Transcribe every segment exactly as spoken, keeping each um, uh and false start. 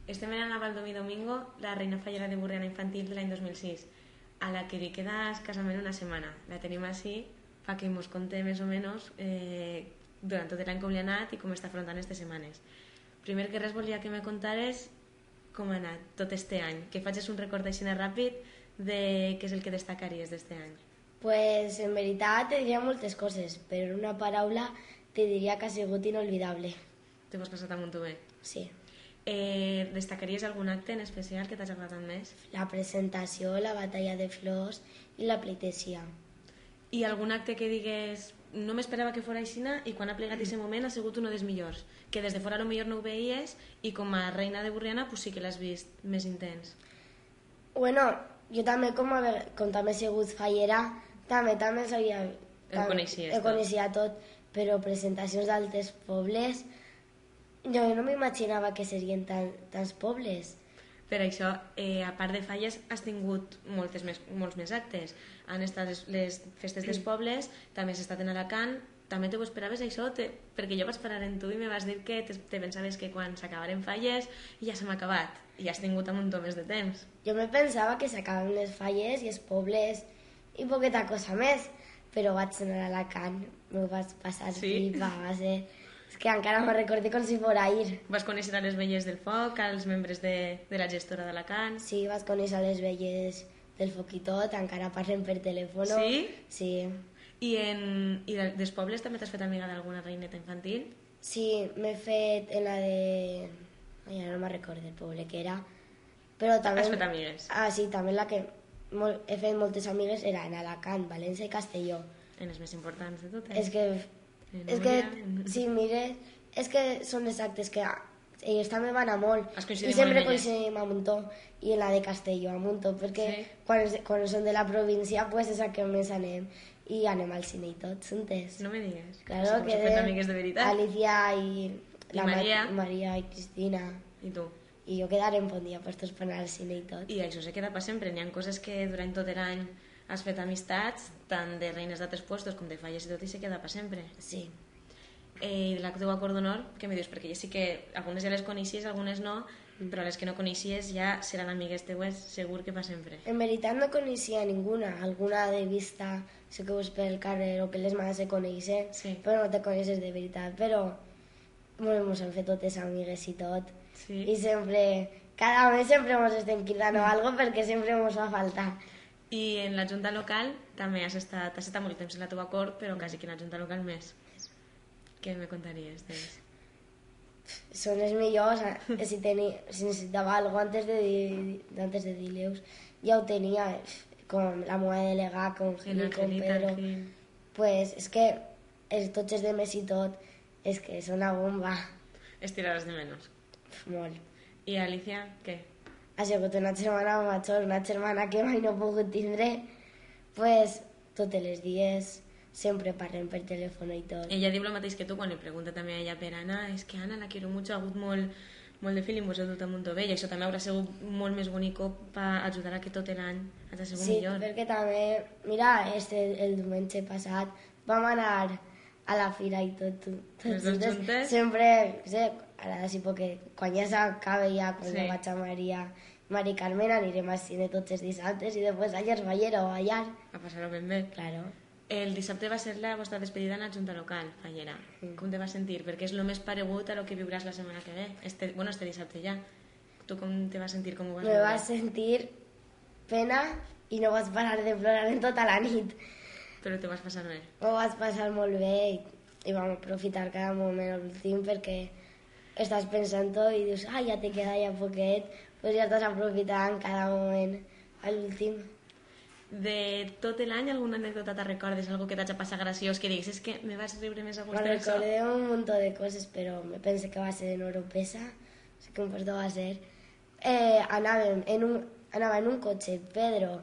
Estem en la Valdomí Domingo, la reina fallera de Burriana infantil de l'any dos mil sis, a la que li queda escassament una setmana. La tenim així perquè ens conté més o menys eh, durant tot l'any com li ha anat i com està afrontant aquestes setmanes. Primer que res volia que me contares com ha anat tot este any, que facis un record així ràpid de què és el que destacaries d'este any. Pues en veritat te diria moltes coses, però en una paraula te diria que ha sigut inolvidable. Te ho has passat molt bé? Sí. Eh, destacaries algun acte en especial que t'hagi agradat més? La presentació, la batalla de flors i la pleitesia. I algun acte que digues no m'esperava que fos aixina i quan ha plegat aquest moment ha sigut un dels millors, que des de fora potser no ho veies i com a reina de Burriana pues sí que l'has vist més intens. Bueno, jo també com, a, com també he sigut fallera, també també sabia... El coneixies tot. El coneixia tot, però presentacions d'altres pobles... Jo no m'imaginava que serien tan, tants pobles. Per això, eh, a part de falles, has tingut moltes més, molts més actes. Han estat les, les festes dels pobles, també has estat en Alacant. També te ho esperaves això? Te, perquè jo vaig parar en tu i me vas dir que te, te pensaves que quan s'acabaren falles ja se m'ha acabat. I has tingut un muntó més de temps. Jo me pensava que s'acabaven les falles i els pobles i poqueta cosa més. Però vaig anar a Alacant, m'ho vaig passar sí? pipa, va ser... És que encara me'n recordo com si fos ahir. Vas conèixer a les velles del foc, als membres de, de la gestora d'Alacant? Sí, vaig conèixer a les velles del foc i tot, encara parlem per telèfon. Sí? Sí. I, en, i dels pobles també t'has fet amiga d'alguna reineta infantil? Sí, m'he fet en la de... Ai, ara no me'n recordo el poble que era. Però també... Has fet amigues? Ah, sí, també la que molt... he fet moltes amigues era en Alacant, València i Castelló. En les més importants de totes? És que... És que, si mires, és que són els actes que ells també van a molt i sempre coincidim a Muntó i en la de Castelló a Muntó perquè sí? quan, quan són de la província pues és a que més anem i anem al cine i tot, juntes. No me digues. Claro, que de amigues de veritat. Alicia i, I la Maria. Ma Maria i Cristina. I tu? I jo quedarem bon dia per tots per anar al cine i tot. I això se queda per sempre. N'hi ha coses que durant tot l'any has fet amistats, tant de reines d'altres puestos com de falles i tot, i se queda per sempre. Sí. Eh, I de la teva acord d'honor, què me dius? Perquè ja sí que algunes ja les coneixies, algunes no, però les que no coneixies ja seran amigues teues segur que per sempre. En veritat no coneixia ninguna, alguna de vista, sé que veus pel carrer o per les mans se coneixen, sí. Però no te coneixes de veritat, però ens hem fet totes amigues i tot, sí. I sempre, cada mes sempre ens estem cridant o alguna cosa perquè sempre ens fa falta. I en la junta local també has estat, has estat molt temps en la teva cort, però quasi que en la junta local més. Què me contaries d'ells? Són els millors, si, tenia, si necessitava alguna cosa antes de, antes de dir-los, ja ho tenia, com la meva delegà, com Gil, com Pedro. Pues és que els, tots els de més i tot, és que són una bomba. Estiraràs de menys? Molt. I Alicia, què? Ha sigut una germana major, una germana que mai no he pogut tindre, pues tots els dies sempre parlem per telèfon i tot. Ella diu el mateix que tu quan li pregunta també a ella per Anna, és que Anna la quiero mucho, ha hagut molt, molt de feeling, vos heu dut a Montové, i això també haurà sigut molt més bonic per ajudar a que tot l'any hagi sigut sí, millor. Sí, perquè també, mira, este, el diumenge passat vam anar a la fira i tot, tot les dos juntes? Sempre, no sé, ara sí, perquè quan ja s'acabe ja, quan sí. Vaig a Maria, Mari Carmen, anirem al cine tots els dissabtes i després a Llersballera o allà. A passar-ho ben bé. Claro. El dissabte va ser la vostra despedida en la Junta Local, Fallera. Mm. Com te vas sentir? Perquè és el més paregut a lo que viuràs la setmana que ve. Este, bueno, este dissabte ja. Tu com te vas sentir? Com ho vas Me vas sentir pena i no vas parar de plorar en tota la nit. Però te vas passar bé? Ho vas passar molt bé i, i vam aprofitar cada moment a l'últim perquè estàs pensant tot i dius, ai, ja te queda ja poquet, pues ja estàs aprofitant cada moment a l'últim. De tot l'any, alguna anècdota te recordes? Algo que t'hagi passat graciós, que digues, és que me vas riure més a gust d'això? Me recordé un munt de coses, però me pense que va ser en Oropesa, no sé com puesto va ser. Eh, anàvem en un, anava en un cotxe Pedro,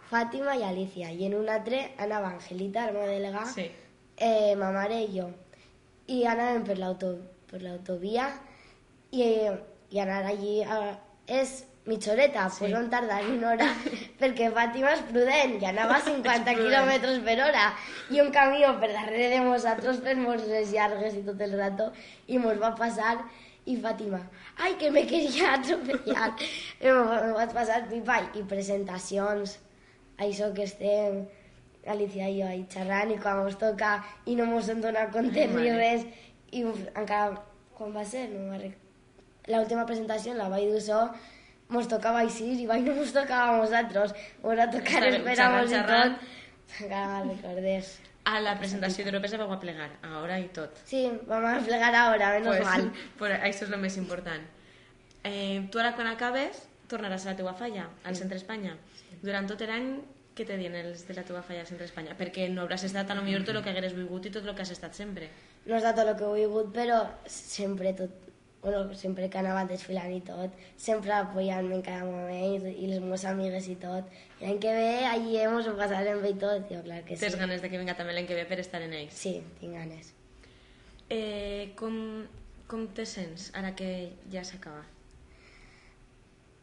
Fàtima i Alicia, i en un altre anava Angelita, la meva delegà, sí. eh, ma mare i jo. I anàvem per l'auto, per l'autovia i, i anar allí a, és mitja horeta, sí. Pues vam tardar una hora perquè Fàtima és prudent i anava a cinquanta quilòmetres per hora i un camió per darrere de nosaltres fent-nos les llargues i tot el rato i mos va passar i Fàtima, ai, que me queria atropellar. I me vaig passar pipa i presentacions, això que estem, Alicia i jo ahí xerrant, i quan ens toca i no ens hem donat compte ni res, i encara, quan va ser? No me'n recordo. L'última presentació la vaig dur so, ens tocava així i vaig no ens tocava a nosaltres, ens va tocar esperar-nos i tot. Encara me'n recordés. A la presentació d'Europa se vau a plegar, a hora i tot. Sí, vam a plegar a hora, menos pues, mal. Pues això és el més important. Eh, tu ara quan acabes tornaràs a la teua falla, al Centre Espanya. Durant tot l'any, què te diuen els de la teua falla al Centre Espanya? Perquè no hauràs estat a lo millor tot el que hagueres volgut i tot el que has estat sempre. No ha estat tot el que he volgut, però sempre tot, bueno, sempre que anava desfilant i tot, sempre apoyant-me en cada moment i les meves amigues i tot. I l'any que ve allí ens ho passarem bé i tot, jo clar que sí. Tens ganes de que vinga també l'any que ve per estar en ells? Sí, tinc ganes. Eh, com, com te sents ara que ja s'acaba?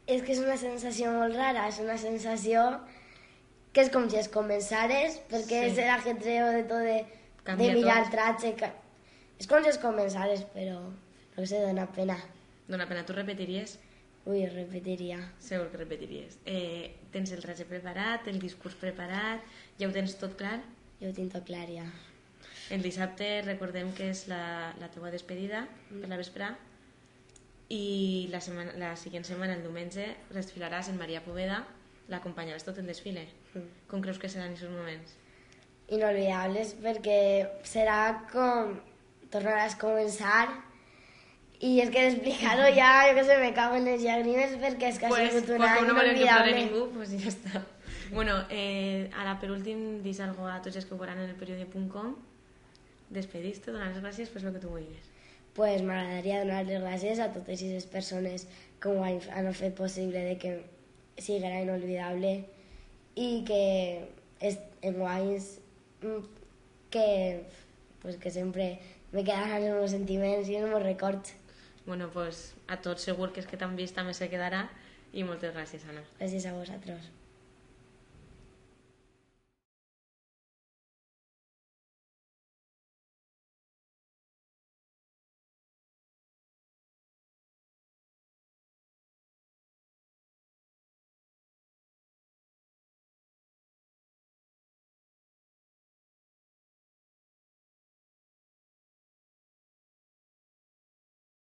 És que és una sensació molt rara, és una sensació que és com si es començares, perquè sí. És el ajetreo de tot de, de mirar tot. Tratge, que... és com si es començares, però no sé, dona pena. Dona pena, tu repetiries? Ui, repetiria. Segur que repetiries. Eh, tens el ratge preparat, el discurs preparat, ja ho tens tot clar? Ja ho tinc tot clar, ja. El dissabte recordem que és la, la teua despedida mm. per la vesprà i la, setmana, la següent setmana, el diumenge, desfilaràs en Maria Poveda, l'acompanyaràs tot el desfile. Mm. Com creus que seran aquests moments? Inolvidables, perquè serà com tornaràs a començar i és que d'explicar-ho ja, jo que sé, me cago en les llàgrimes perquè és que pues, ha sigut un any no inolvidable. Ningú, pues ja està. Bueno, eh, ara per últim, dis algo a tots els que ho veuran en el periodi punt com. Despedís-te, donar les gràcies, pues el que tu vulguis. Pues m'agradaria donar les gràcies a totes aquestes persones que ho han, han fet possible de que sigui inolvidable i que és, en guanys que, pues, que sempre me quedaran els meus sentiments i els meus records. Bueno, pues a tots segur que és que t'han vist també se quedarà i moltes gràcies, Anna. Gràcies a vosaltres.